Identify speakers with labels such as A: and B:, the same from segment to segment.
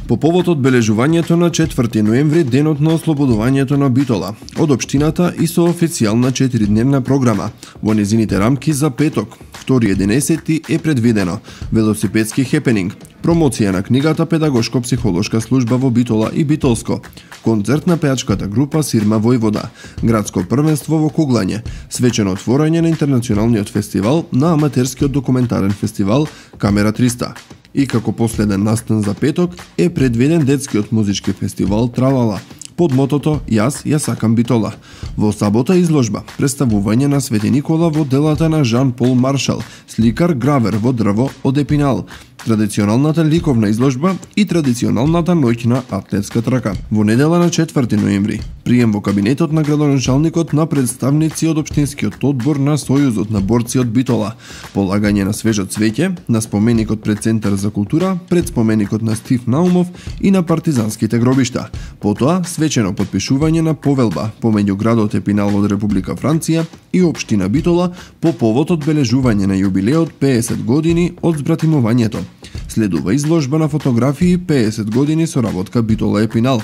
A: По повод одбележувањето на 4 ноември, денот на ослободувањето на Битола, од општината и со официјална 4-дневна програма. Во незините рамки за петок, 2.11 е предвидено велосипедски хепенинг, промоција на книгата Педагошко-психолошка служба во Битола и Битолско, концерт на пејачката група Сирма Војвода, градско првенство во куглање, свечено отворање на интернационалниот фестивал на аматерскиот документарен фестивал Камера 300. И како последен настан за петок е предвиден детскиот музички фестивал Тралала, под мотото Јас ја сакам Битола. Во сабота изложба, представување на Свети Никола во делата на Жан Пол Маршал, сликар гравер во дрво од Епинал, традиционалната ликовна изложба и традиционалната ноќна атлетска трака. Во недела на 4 ноември, прием во кабинетот на градоначалникот на представници од општинскиот одбор на Сојузот на борци од Битола, полагање на свежо цвеќе на споменикот пред Центар за култура, пред споменикот на Стив Наумов и на партизанските гробишта. Потоа свечено подпишување на повелба помеѓу градот Епинал од Република Франција и општина Битола по повод одбележување на јубилеот 50 години од збратимувањето. Следува изложба на фотографии 50 години соработка Битола Епинал.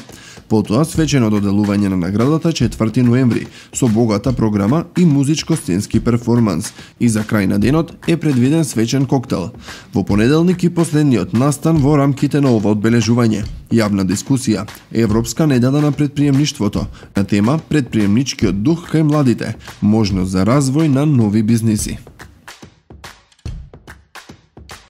A: Потоа свечено доделување на наградата 4 ноември со богата програма и музичко-сценски перформанс. И за крај на денот е предвиден свечен коктел. Во понеделник и последниот настан во рамките на ова одбележување. Јавна дискусија, Европска недела на предприемништвото, на тема Предприемничкиот дух кај младите, можност за развој на нови бизниси.